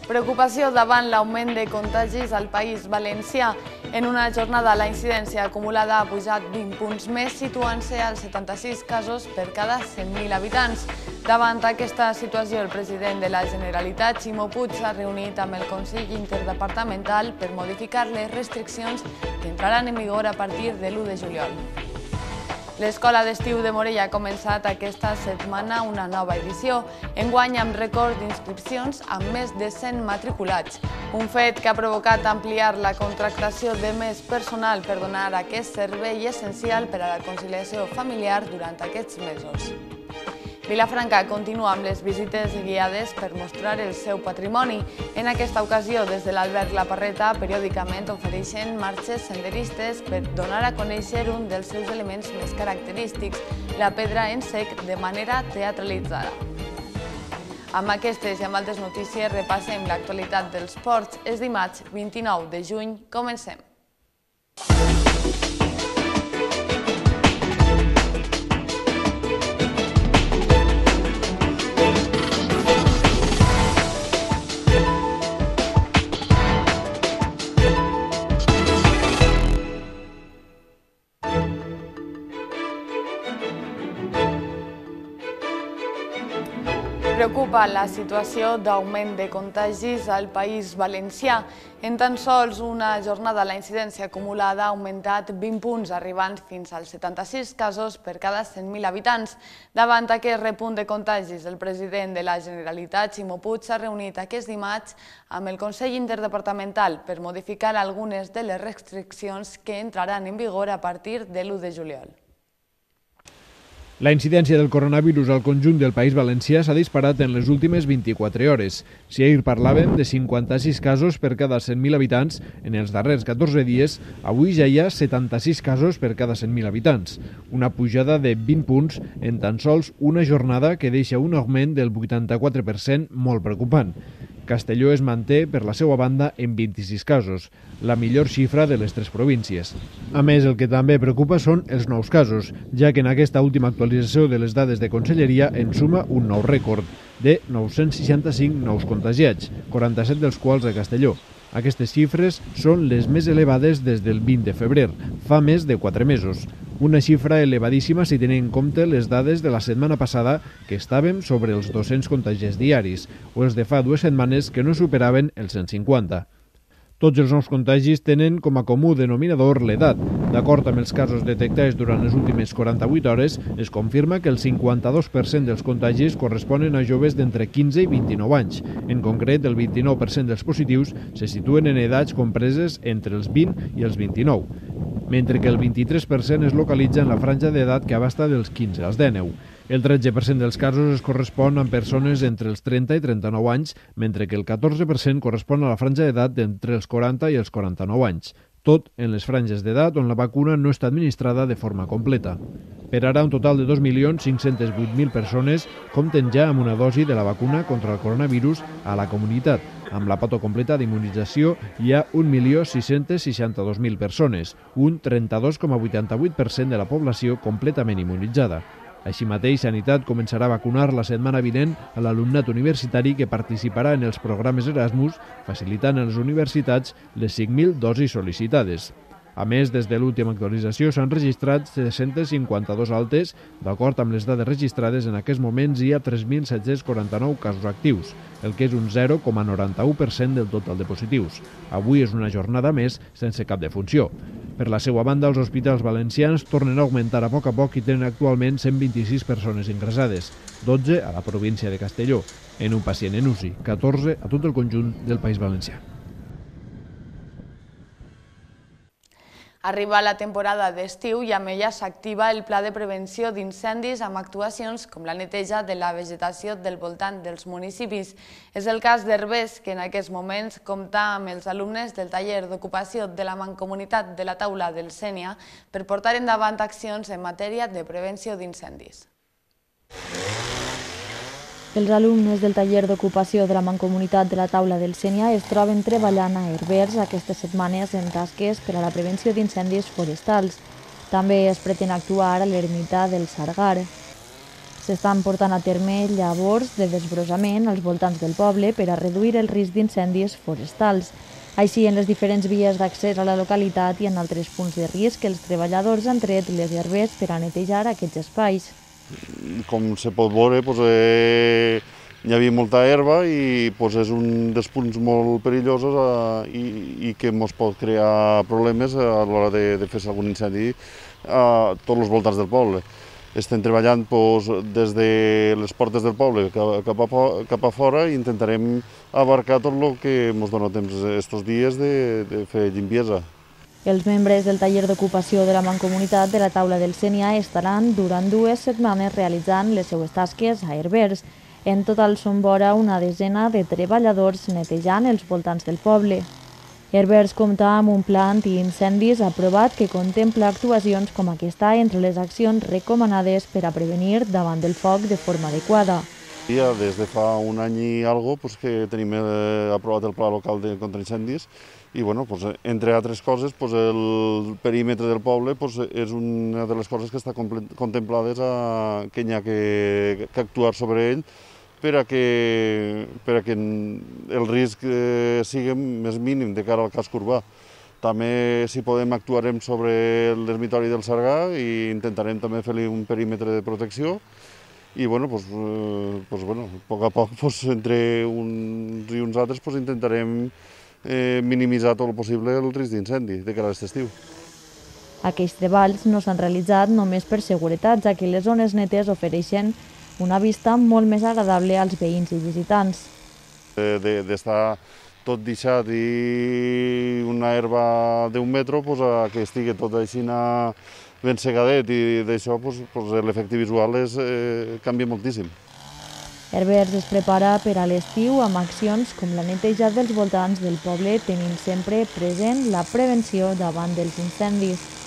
Preocupació davant l'augment de contagis al País Valencià. En una jornada la incidència acumulada ha pujat 20 punts més, situant-se als 76 casos per cada 100.000 habitants. Davant aquesta situació, el president de la Generalitat, Ximo Puig, s'ha reunit amb el Consell Interdepartamental per modificar les restriccions que entraran en vigor a partir de l'1 de juliol. L'escola d'estiu de Morella ha començat aquesta setmana una nova edició, enguany amb rècord d'inscripcions amb més de 100 matriculats. Un fet que ha provocat ampliar la contractació de més personal per donar aquest servei essencial per a la conciliació familiar durant aquests mesos. Vilafranca continua amb les visites guiades per mostrar el seu patrimoni. En aquesta ocasió, des de l'Alberg La Parreta, periòdicament ofereixen marxes senderistes per donar a conèixer un dels seus elements més característics, la pedra en sec, de manera teatralitzada. Amb aquestes i amb altres notícies repassem l'actualitat dels ports. És dimarts 29 de juny. Comencem. Preocupa la situació d'augment de contagis al País Valencià. En tan sols una jornada la incidència acumulada ha augmentat 20 punts, arribant fins als 76 casos per cada 100.000 habitants. Davant aquest repunt de contagis, el president de la Generalitat, Ximo Puig, s'ha reunit aquest dimarts amb el Consell Interdepartamental per modificar algunes de les restriccions que entraran en vigor a partir de l'1 de juliol. La incidència del coronavirus al conjunt del País Valencià s'ha disparat en les últimes 24 hores. Si ahir parlàvem de 56 casos per cada 100.000 habitants, en els darrers 14 dies, avui ja hi ha 76 casos per cada 100.000 habitants. Una pujada de 20 punts en tan sols una jornada que deixa un augment del 84% molt preocupant. Castelló es manté, per la seva banda, en 26 casos, la millor xifra de les tres províncies. A més, el que també preocupa són els nous casos, ja que en aquesta última actualització de les dades de Conselleria en suma un nou rècord de 965 nous contagiats, 47 dels quals a Castelló. Aquestes xifres són les més elevades des del 20 de febrer, fa més de 4 mesos. Una xifra elevadíssima si tenim en compte les dades de la setmana passada, que estàvem sobre els 200 contagiats diaris, o els de fa 2 setmanes que no superaven els 150. Tots els nous contagis tenen com a comú denominador l'edat. D'acord amb els casos detectats durant les últimes 48 hores, es confirma que el 52% dels contagis corresponen a joves d'entre 15 i 29 anys. En concret, el 29% dels positius se situen en edats compreses entre els 20 i els 29, mentre que el 23% es localitza en la franja d'edat que abasta dels 15 als 19. El 13% dels casos es correspon amb persones entre els 30 i 39 anys, mentre que el 14% correspon a la franja d'edat d'entre els 40 i els 49 anys. Tot en les franges d'edat on la vacuna no està administrada de forma completa. Per ara, un total de 2.508.000 persones compten ja amb una dosi de la vacuna contra el coronavirus a la comunitat. Amb la pota completa d'immunització hi ha 1.662.000 persones, un 32,88% de la població completament immunitzada. Així mateix, Sanitat començarà a vacunar la setmana vinent a l'alumnat universitari que participarà en els programes Erasmus, facilitant a les universitats les 5.000 dosis sol·licitades. A més, des de l'última actualització s'han registrat 352 altes. D'acord amb les dades registrades, en aquests moments hi ha 3.749 casos actius, el que és un 0,91% del total de positius. Avui és una jornada més sense cap defunció. Per la seva banda, els hospitals valencians tornen a augmentar a poc i tenen actualment 126 persones ingressades, 12 a la província de Castelló, en un pacient en UCI, 14 a tot el conjunt del País Valencià. Arriba la temporada d'estiu i amb ella s'activa el pla de prevenció d'incendis amb actuacions com la neteja de la vegetació del voltant dels municipis. És el cas d'Herbers, que en aquests moments compta amb els alumnes del taller d'ocupació de la Mancomunitat de la Taula del Sénia per portar endavant accions en matèria de prevenció d'incendis. Els alumnes del taller d'ocupació de la Mancomunitat de la Taula del Sénia es troben treballant a Herbers aquestes setmanes en tasques per a la prevenció d'incendis forestals. També es pretén actuar a l'ermita del Sargar. S'estan portant a terme llavors de desbrossament als voltants del poble per a reduir el risc d'incendis forestals. Així, en les diferents vies d'accés a la localitat i en altres punts de risc, els treballadors han tret les herbes per a netejar aquests espais. Com se pot veure, hi havia molta herba i és un dels punts molt perillosos i que ens pot crear problemes a l'hora de fer algun incendi a tots els voltants del poble. Estem treballant des de les portes del poble cap a fora i intentarem abarcar tot el que ens dona temps aquests dies de fer limpiesa. Els membres del taller d'ocupació de la Mancomunitat de la Taula del Sénia estaran durant 2 setmanes realitzant les seues tasques a Herbers. En total són vora una desena de treballadors netejant els voltants del poble. Herbers compta amb un pla antiincendis aprovat que contempla actuacions com aquesta entre les accions recomanades per a prevenir davant del foc de forma adequada. Des de fa un any i alguna cosa que tenim aprovat el pla local contra incendis i, entre altres coses, el perímetre del poble és una de les coses que està contemplades que hi ha que actuar sobre ell per a que el risc sigui més mínim de cara al casc urbà. També, si podem, actuarem sobre l'ermitori del Sargà i intentarem també fer-li un perímetre de protecció i, a poc a poc, entre uns i uns altres, intentarem minimitzar tot el possible el risc d'incendi de cara a aquest estiu. Aquests treballs no s'han realitzat només per seguretat, ja que les zones netes ofereixen una vista molt més agradable als veïns i visitants. D'estar tot deixat i una herba d'1 metre a que estigui tot així ben segadet i d'això l'efecte visual canvia moltíssim. Herbers es prepara per a l'estiu amb accions com la neteja dels voltants del poble, tenint sempre present la prevenció davant dels incendis.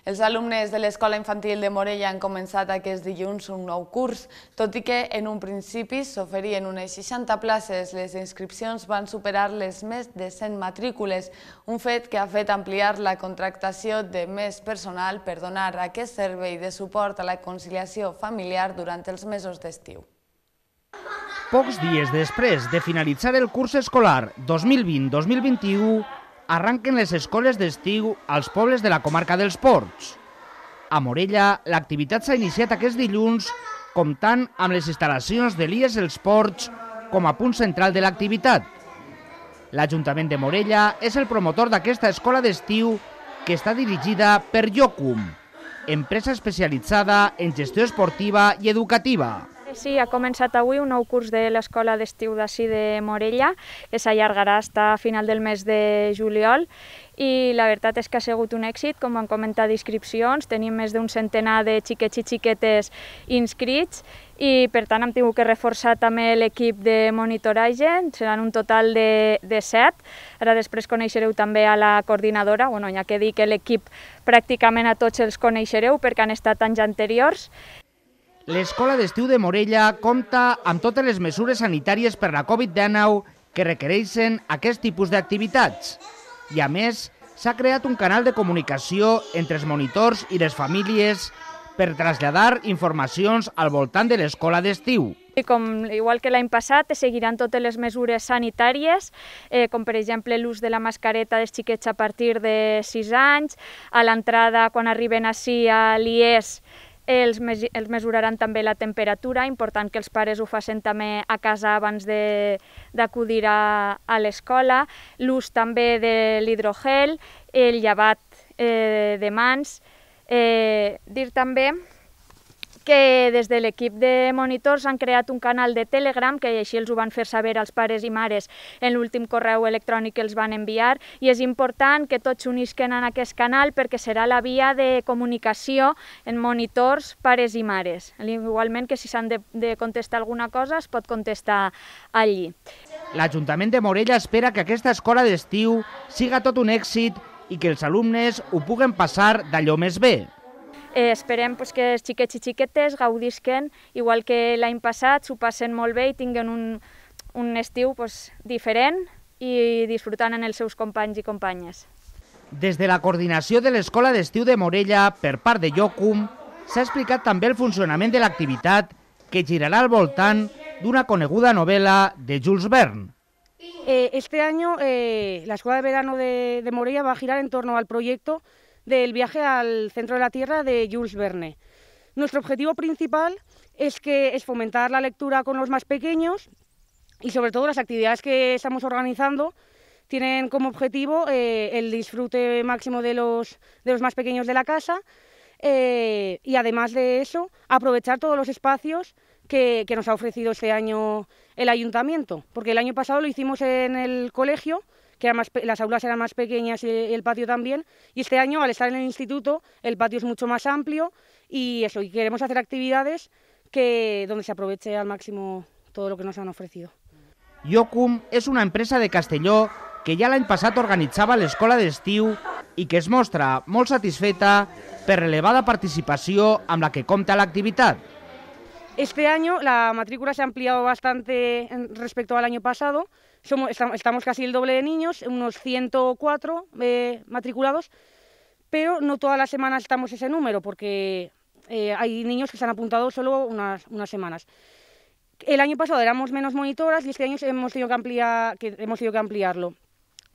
Els alumnes de l'Escola Infantil de Morella han començat aquest dilluns un nou curs. Tot i que en un principi s'oferien unes 60 places, les inscripcions van superar les més de 100 matrícules, un fet que ha fet ampliar la contractació de més personal per donar aquest servei de suport a la conciliació familiar durant els mesos d'estiu. Pocs dies després de finalitzar el curs escolar 2020-2021, arranquen les escoles d'estiu als pobles de la comarca dels Ports. A Morella, l'activitat s'ha iniciat aquest dilluns comptant amb les instal·lacions de l'IES Els Ports com a punt central de l'activitat. L'Ajuntament de Morella és el promotor d'aquesta escola d'estiu que està dirigida per Jocum, empresa especialitzada en gestió esportiva i educativa. Sí, ha començat avui un nou curs de l'Escola d'Estiu d'ací de Morella, que s'allargarà fins a final del mes de juliol i la veritat és que ha sigut un èxit, com han comentat d'inscripcions, tenim més d'un centenar de xiquets i xiquetes inscrits i per tant hem tingut que reforçar també l'equip de monitoratge, seran un total de 7. Ara després coneixereu també a la coordinadora, hi ha que dir que l'equip pràcticament a tots els coneixereu perquè han estat anys anteriors. L'Escola d'Estiu de Morella compta amb totes les mesures sanitàries per la Covid-19 que requereixen aquest tipus d'activitats. I a més, s'ha creat un canal de comunicació entre els monitors i les famílies per traslladar informacions al voltant de l'escola d'estiu. Igual que l'any passat, seguiran totes les mesures sanitàries, com per exemple l'ús de la mascareta dels xiquets a partir de 6 anys, a l'entrada, quan arriben ací a l'IES, els mesuraran també la temperatura, important que els pares ho facin també a casa abans d'acudir a l'escola, l'ús també de l'hidrogel, el llevat de mans. Dir també que des de l'equip de monitors han creat un canal de Telegram, que així els ho van fer saber als pares i mares en l'últim correu electrònic que els van enviar, i és important que tots s'unisquen en aquest canal perquè serà la via de comunicació en monitors, pares i mares. Igualment que si s'han de contestar alguna cosa es pot contestar allí. L'Ajuntament de Morella espera que aquesta escola d'estiu siga tot un èxit i que els alumnes ho puguen passar d'allò més bé. Esperem que els xiquets i xiquetes gaudisquen, igual que l'any passat, s'ho passen molt bé i tinguen un estiu diferent i disfrutant amb els seus companys i companyes. Des de la coordinació de l'Escola d'Estiu de Morella, per part de Iocum, s'ha explicat també el funcionament de l'activitat que girarà al voltant d'una coneguda novel·la de Jules Verne. Este año la Escuela de Verano de Morella va a girar en torno al proyecto del viaje al centro de la Tierra de Jules Verne. Nuestro objetivo principal es fomentar la lectura con los más pequeños y sobre todo las actividades que estamos organizando tienen como objetivo el disfrute máximo de los más pequeños de la casa y además de eso aprovechar todos los espacios que nos ha ofrecido este año el ayuntamiento, porque el año pasado lo hicimos en el colegio, que las aulas eran más pequeñas y el patio también, y este año al estar en el instituto el patio es mucho más amplio y queremos hacer actividades donde se aproveche al máximo todo lo que nos han ofrecido. Iocum és una empresa de Castelló que ja l'any passat organitzava l'escola d'estiu i que es mostra molt satisfeta per l'elevada participació amb la que compta l'activitat. Este año la matrícula se ha ampliado bastante respecto al año pasado. Estamos casi el doble de niños, unos 104 matriculados, pero no todas las semanas estamos ese número porque hay niños que se han apuntado solo unas semanas. El año pasado éramos menos monitoras y este año hemos tenido que ampliarlo.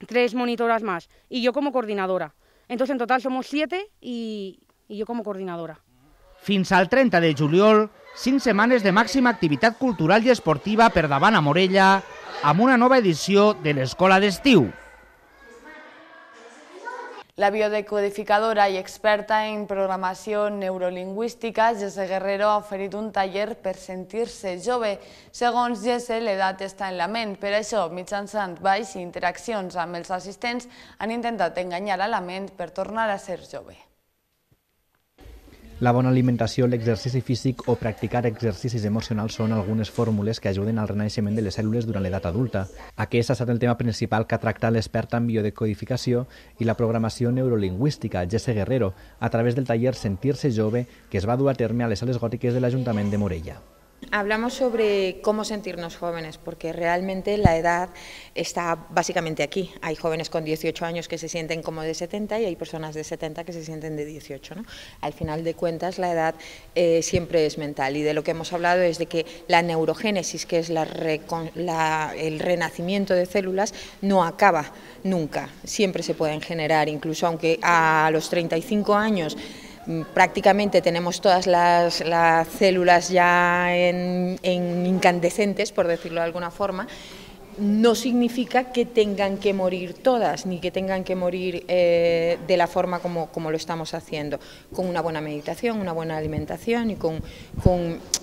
3 monitoras más y yo como coordinadora. Entonces en total somos 7 y yo como coordinadora. Fins al 30 de juliol, 5 setmanes de màxima activitat cultural i esportiva per davant a Morella amb una nova edició de l'Escola d'Estiu. La biodecodificadora i experta en programació neurolingüística, Jesse Guerrero, ha oferit un taller per sentir-se jove. Segons Jesse, l'edat està en la ment. Per això, mitjançant balls i interaccions amb els assistents, han intentat enganyar a la ment per tornar a ser jove. La bona alimentació, l'exercici físic o practicar exercicis emocionals són algunes fórmules que ajuden al renaixement de les cèl·lules durant l'edat adulta. Aquest ha estat el tema principal que ha tractat l'experta en biodecodificació i la programació neurolingüística, Jesse Guerrero, a través del taller Sentir-se jove que es va dur a terme a les sales gòtiques de l'Ajuntament de Morella. Hablamos sobre cómo sentirnos jóvenes, porque realmente la edad está básicamente aquí. Hay jóvenes con 18 años que se sienten como de 70 y hay personas de 70 que se sienten de 18, ¿no? Al final de cuentas, la edad siempre es mental y de lo que hemos hablado es de que la neurogénesis, que es el renacimiento de células, no acaba nunca. Siempre se pueden generar, incluso aunque a los 35 años prácticamente tenemos todas las células ya en incandescentes, por decirlo de alguna forma, no significa que tengan que morir todas, ni que tengan que morir de la forma como lo estamos haciendo, con una buena meditación, una buena alimentación y con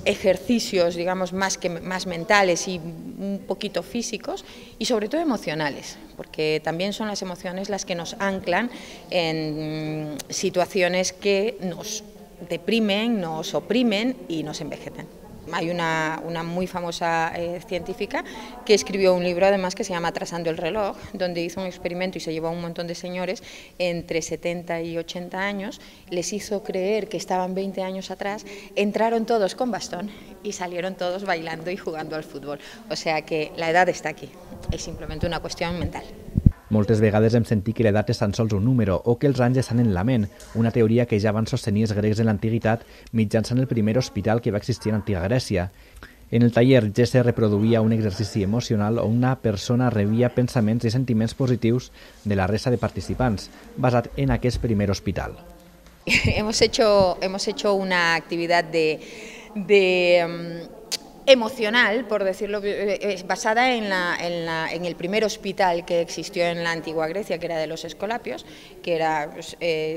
ejercicios, digamos, más mentales y un poquito físicos y sobre todo emocionales, porque también son las emociones las que nos anclan en situaciones que nos deprimen, nos oprimen y nos envejecen. Hay una muy famosa científica que escribió un libro además que se llama Trazando el reloj, donde hizo un experimento y se llevó a un montón de señores entre 70 y 80 años, les hizo creer que estaban 20 años atrás, entraron todos con bastón y salieron todos bailando y jugando al fútbol. O sea que la edad está aquí, es simplemente una cuestión mental. Moltes vegades hem sentit que l'edat és tan sols un número o que els anys estan en la ment, una teoria que ja van sostenir els grecs en l'antiguitat mitjançant el primer hospital que va existir en l'antiga Grècia. En el taller, Jesse reproduïa un exercici emocional on una persona rebia pensaments i sentiments positius de la resta de participants, basat en aquest primer hospital. Hemos hecho una actividad emocional, por decirlo, basada en el primer hospital que existió en la antigua Grecia, que era de los Escolapios, que era,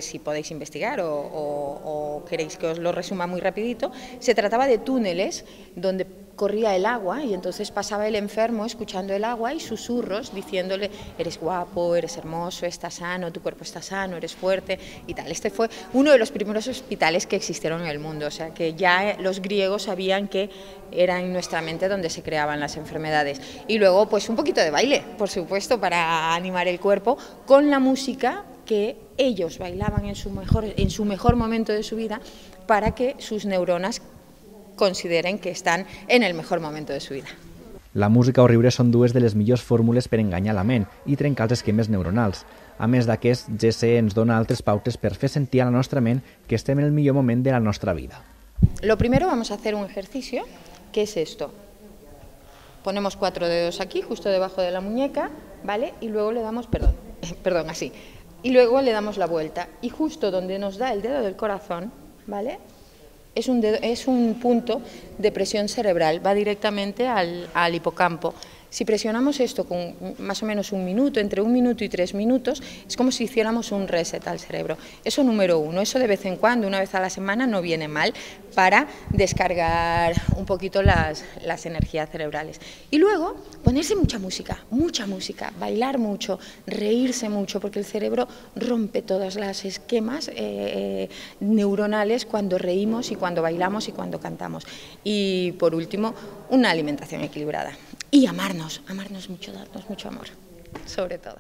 si podéis investigar o queréis que os lo resuma muy rapidito, se trataba de túneles donde corría el agua y entonces pasaba el enfermo escuchando el agua y susurros diciéndole eres guapo, eres hermoso, estás sano, tu cuerpo está sano, eres fuerte y tal. Este fue uno de los primeros hospitales que existieron en el mundo, o sea que ya los griegos sabían que era en nuestra mente donde se creaban las enfermedades. Y luego pues un poquito de baile, por supuesto, para animar el cuerpo con la música que ellos bailaban en su mejor momento de su vida para que sus neuronas consideren que están en el mejor momento de su vida. La música o riure són dues de les millors fórmules per enganyar la ment i trencar els esquemes neuronals. A més d'aquest, GC ens dona altres pautes per fer sentir a la nostra ment que estem en el millor moment de la nostra vida. Lo primero vamos a hacer un ejercicio, que es esto. Ponemos 4 dedos aquí, justo debajo de la muñeca, ¿vale? Y luego le damos, perdón, así. Y luego le damos la vuelta. Y justo donde nos da el dedo del corazón, ¿vale? Es un punto de presión cerebral, va directamente al hipocampo. Si presionamos esto con más o menos un minuto, entre 1 minuto y 3 minutos, es como si hiciéramos un reset al cerebro. Eso número 1, eso de vez en cuando, una vez a la semana, no viene mal para descargar un poquito las energías cerebrales. Y luego ponerse mucha música, bailar mucho, reírse mucho, porque el cerebro rompe todos los esquemas neuronales cuando reímos y cuando bailamos y cuando cantamos. Y por último, una alimentación equilibrada. Y amarnos mucho, darnos mucho amor, sobre todo.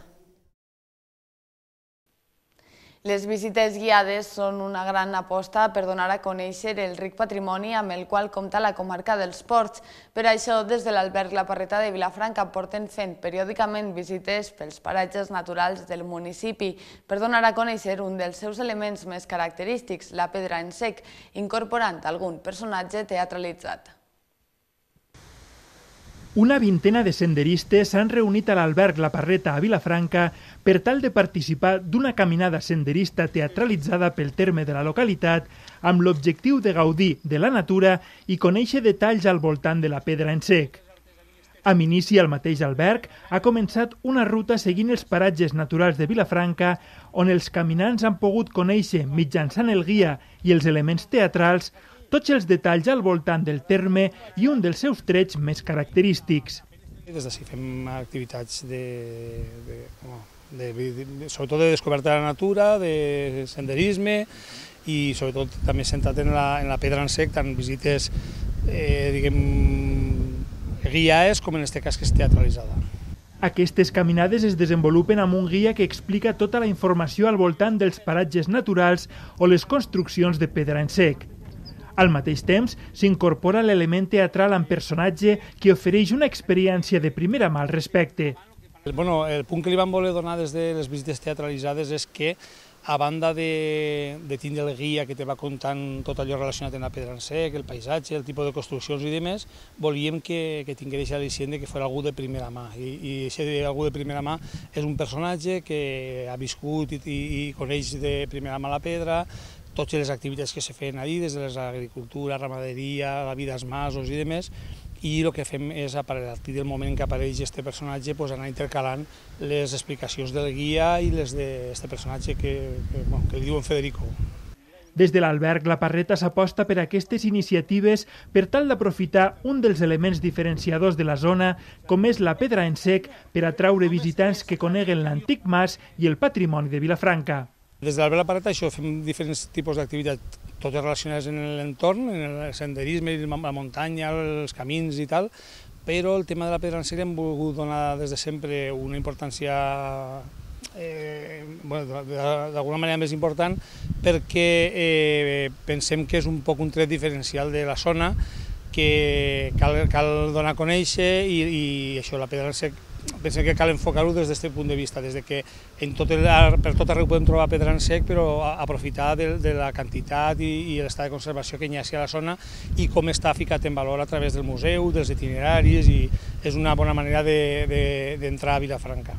Les visites guiades són una gran aposta per donar a conèixer el ric patrimoni amb el qual compta la comarca dels Ports. Per això, des de l'Alberg La Parreta de Vilafranca porten fent periòdicament visites pels paratges naturals del municipi per donar a conèixer un dels seus elements més característics, la pedra en sec, incorporant algun personatge teatralitzat. Una vintena de senderistes s'han reunit a l'Alberg La Parreta a Vilafranca per tal de participar d'una caminada senderista teatralitzada pel terme de la localitat amb l'objectiu de gaudir de la natura i conèixer detalls al voltant de la pedra en sec. Amb inici al mateix alberg ha començat una ruta seguint els paratges naturals de Vilafranca on els caminants han pogut conèixer mitjançant el guia i els elements teatrals tots els detalls al voltant del terme i un dels seus trets més característics. Des d'ací fem activitats sobretot de descoberta de la natura, de senderisme i sobretot també centrat en la pedra en sec, tant visites guiades com en aquest cas que és teatralitzada. Aquestes caminades es desenvolupen amb un guia que explica tota la informació al voltant dels paratges naturals o les construccions de pedra en sec. Al mateix temps, s'incorpora l'element teatral amb personatge que ofereix una experiència de primera mà al respecte. El punt que li vam voler donar des de les visites teatralitzades és que, a banda de tindre el guia que te va contant tot allò relacionat amb la pedra en sec, el paisatge, el tipus de construccions i demés, volíem que tingués l'al·licient que fos algú de primera mà. I aquest algú de primera mà és un personatge que ha viscut i coneix de primera mà la pedra, totes les activitats que se feien allí, des de l'agricultura, ramaderia, la vida als masos i demés, i el que fem és, a partir del moment que apareix aquest personatge, anar intercalant les explicacions del guia i les d'aquest personatge que li diuen Federico. Des de l'Alberg La Parreta s'aposta per aquestes iniciatives per tal d'aprofitar un dels elements diferenciadors de la zona, com és la pedra en sec, per atraure visitants que coneguen l'antic mas i el patrimoni de Vilafranca. Des de l'Alberg La Parreta fem diferents tipus d'activitats, totes relacionades amb l'entorn, en el senderisme, la muntanya, els camins i tal, però el tema de la pedra en sec hem volgut donar des de sempre una importància d'alguna manera més important perquè pensem que és un poc un tret diferencial de la zona que cal donar a conèixer i això, la pedra en sec, pensem que cal enfocar-ho des d'aquest punt de vista, des que per tot arreu podem trobar pedra en sec, però aprofitar de la quantitat i l'estat de conservació que hi ha a la zona i com està ficat en valor a través del museu, dels itineraris, i és una bona manera d'entrar a Vilafranca.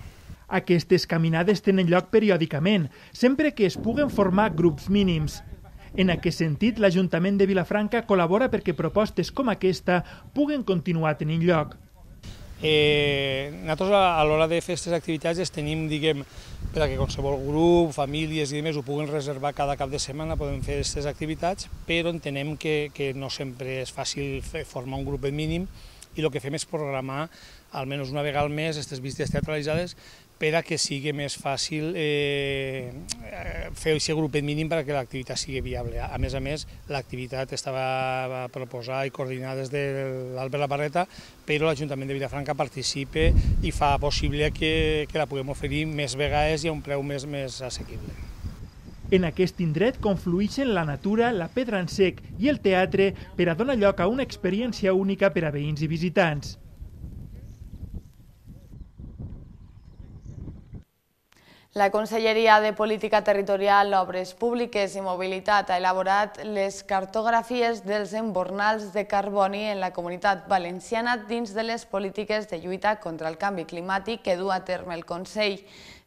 Aquestes caminades tenen lloc periòdicament, sempre que es puguen formar grups mínims. En aquest sentit, l'Ajuntament de Vilafranca col·labora perquè propostes com aquesta puguen continuar tenint lloc. Nosaltres a l'hora de fer aquestes activitats les tenim, perquè qualsevol grup, famílies i demés ho puguen reservar cada cap de setmana, podem fer aquestes activitats, però entenem que no sempre és fàcil formar un grup mínim i el que fem és programar almenys una vegada al mes aquestes visites teatralitzades per a que sigui més fàcil fer aquest grupet mínim perquè l'activitat sigui viable. A més, l'activitat estava proposada i coordinada des de l'Alberg La Parreta, però l'Ajuntament de Vilafranca participa i fa possible que la puguem oferir més vegades i a un preu més assequible. En aquest indret confluïxen la natura, la pedra en sec i el teatre per a donar lloc a una experiència única per a veïns i visitants. La Conselleria de Política Territorial, Obres Públiques i Mobilitat ha elaborat les cartografies dels embornals de carboni en la Comunitat Valenciana dins de les polítiques de lluita contra el canvi climàtic que du a terme el Consell.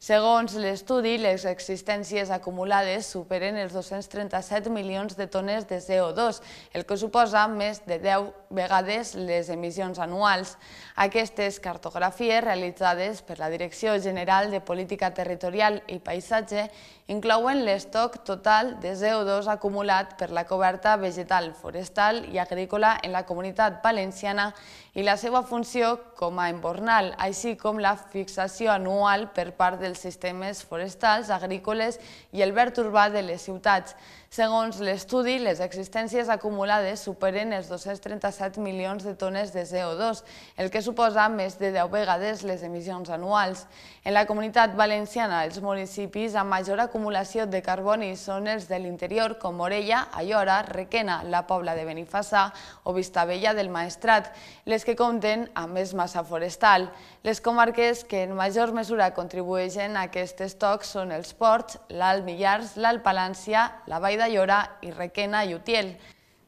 Segons l'estudi, les existències acumulades superen els 237 milions de tones de CO2, el que suposa més de 10 vegades les emissions anuals. Aquestes cartografies, realitzades per la Direcció General de Política Territorial i Paisatge, inclouen l'estoc total de CO2 acumulat per la coberta vegetal, forestal i agrícola en la Comunitat Valenciana i la seva funció com a embornal, així com la fixació anual per part dels sistemes forestals, agrícoles i el verd urbà de les ciutats. Segons l'estudi, les existències acumulades superen els 237 milions de tones de CO2, el que suposa més de 10 vegades les emissions anuals. En la Comunitat Valenciana, els municipis amb major acumulació de carboni són els de l'interior, com Morella, Aiora, Requena, la Pobla de Benifassà o Vistabella del Maestrat, les que compten amb més massa forestal. Les comarques que en major mesura contribueixen a aquest estoc són els Ports, l'Alt Millars, l'Alt Palància, la Vall d'Aiora i Requena i Utiel.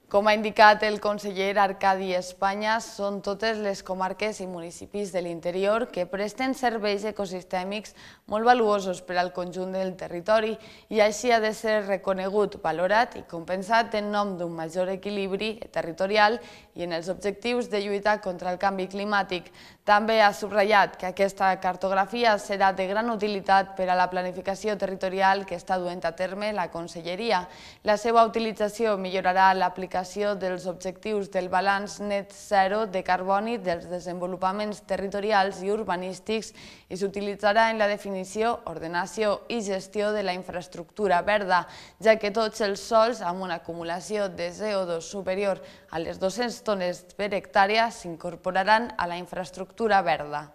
Com ha indicat el conseller Arcadi Espanya, són totes les comarques i municipis de l'interior que presten serveis ecosistèmics molt valuosos per al conjunt del territori i així ha de ser reconegut, valorat i compensat en nom d'un major equilibri territorial i en els objectius de lluita contra el canvi climàtic. També ha subratllat que aquesta cartografia serà de gran utilitat per a la planificació territorial que està duent a terme la Conselleria. La seva utilització millorarà l'aplicació dels objectius del balanç net zero de carboni dels desenvolupaments territorials i urbanístics i s'utilitzarà en la definició, ordenació i gestió de la infraestructura verda, ja que tots els sòls amb una acumulació de CO2 superior a les 200 tones per hectàrea s'incorporaran a la infraestructura verda.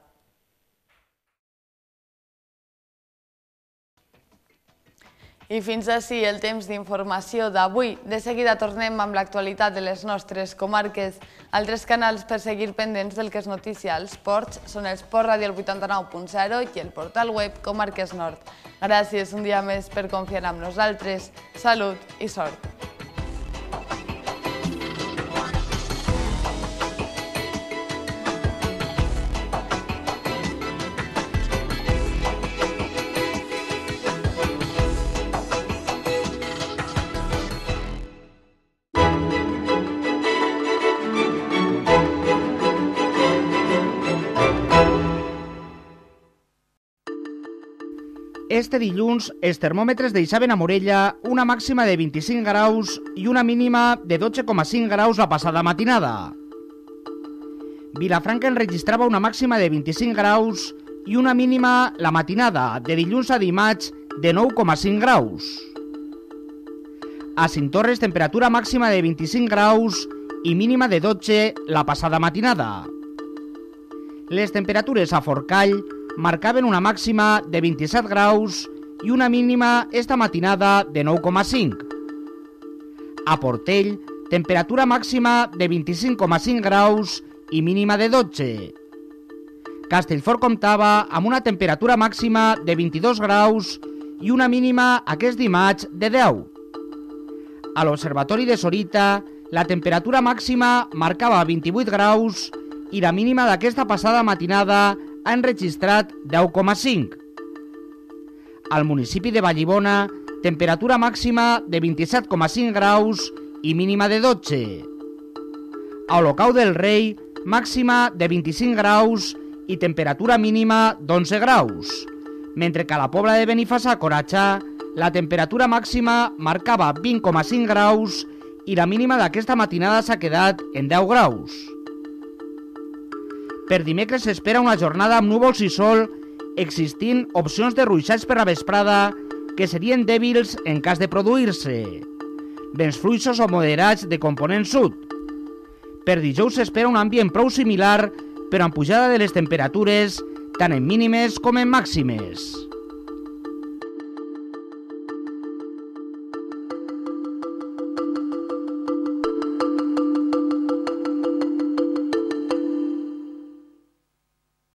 I fins ací el temps d'informació d'avui. De seguida tornem amb l'actualitat de les nostres comarques. Altres canals per seguir pendents del que és notícia als ports són el Port Ràdio 89.0 i el portal web Comarques Nord. Gràcies un dia més per confiar en nosaltres. Salut i sort. Este dilluns, els termòmetres deixaven a Morella una màxima de 25 graus i una mínima de 12,5 graus la passada matinada. Vilafranca enregistrava una màxima de 25 graus i una mínima la matinada de dilluns a dimarts de 9,5 graus. A Cinctorres, temperatura màxima de 25 graus i mínima de 12 la passada matinada. Les temperatures a Forcall marcaven una màxima de 27 graus i una mínima esta matinada de 9,5. A Portell, temperatura màxima de 25,5 graus i mínima de 12. Castellfort comptava amb una temperatura màxima de 22 graus i una mínima aquest dimarts de 10. A l'Observatori de Sorita, la temperatura màxima marcava 28 graus i la mínima d'aquesta passada matinada ha enregistrat 10,5. Al municipi de Vallibona, temperatura màxima de 27,5 graus i mínima de 12. A Olocau del Rei, màxima de 25 graus i temperatura mínima d'11 graus, mentre que a la Pobla de Benifassà, Coratxà, la temperatura màxima marcava 20,5 graus i la mínima d'aquesta matinada s'ha quedat en 10 graus. Per dimecres s'espera una jornada amb núvols i sol, existint opcions de ruixats per la vesprada que serien dèbils en cas de produir-se. Vents fluixos o moderats de component sud. Per dijous s'espera un ambient prou similar, però amb pujada de les temperatures, tant en mínimes com en màximes.